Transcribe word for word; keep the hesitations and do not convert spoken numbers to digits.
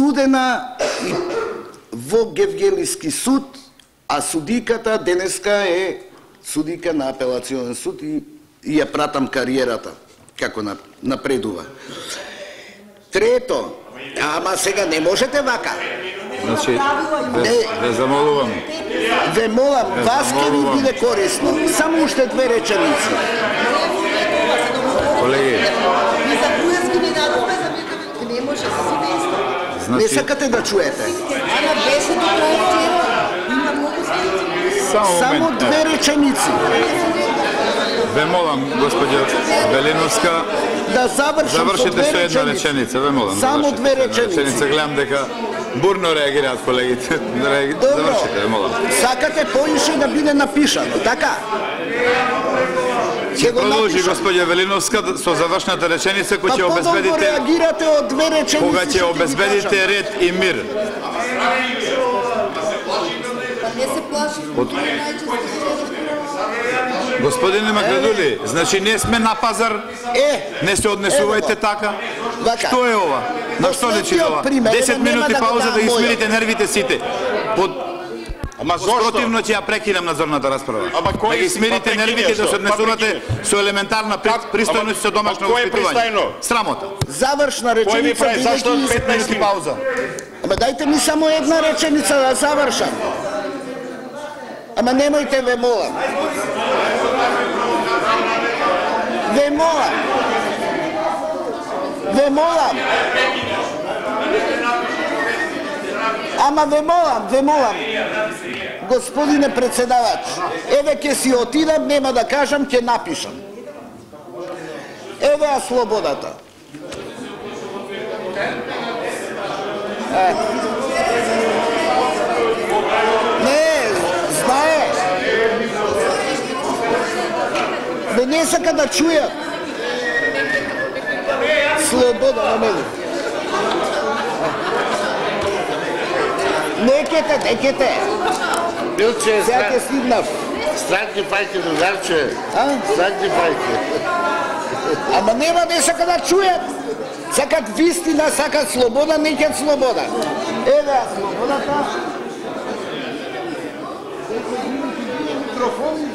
судена во Гевгелиски суд, а судиката денеска е судика на апелационен суд и, и ја пратам кариерата како напредува. Трето, ама сега не можете вака. Значи, ве, ве замолувам. Ве молам, вас ке ви биде корисно. Само уште две реченици. Колеги. Не сакате да чуете. Само две реченици. Ве молам, господја Велиновска, да завршите со една реченица, ве молам. Само две реченици. Гледам дека бурно реагираат колегите. Завршите, ве молам. Сакате поише да биде напишано, така? Ќе продолжи господја Велиновска со завршната реченица која ќе обезбедите реагирате од две реченици. Кога ќе обезбедите ред и мир. Не се плаши. Господине Македули, значи не сме на пазар, е, не се однесувајте така. Вака. Што е ова? На што личи ова? десет минути пауза да ги смирите нервите сите. Под Ама зошто? Противно ќе ја прекинам надзорната расправа. Ама кој да ги смирите нервите да се однесувате со елементарна пристојност со домашно воспитување. Срамота. Завршна реченица. Кој ми прави зашто петнаесет минути пауза? Ама дайте ми само една реченица да завршам. Ама немојте, ве молам. Ве молам. Ве молам. Ама ве молам, ве молам. Господине председавач, еве ќе си отидам, нема да кажам, ќе напишам. Еве а слободата. Е. Не, знае. Бе не сака да чујат. Слобода на мене. Некете, некете. Билче, сега ќе стигнав. Странки фајке, другарче. А? Странки фајке. Ама нема не сака да чујат. Сакат вистина, сакат слобода, некет слобода. Еве слободата. Микрофони.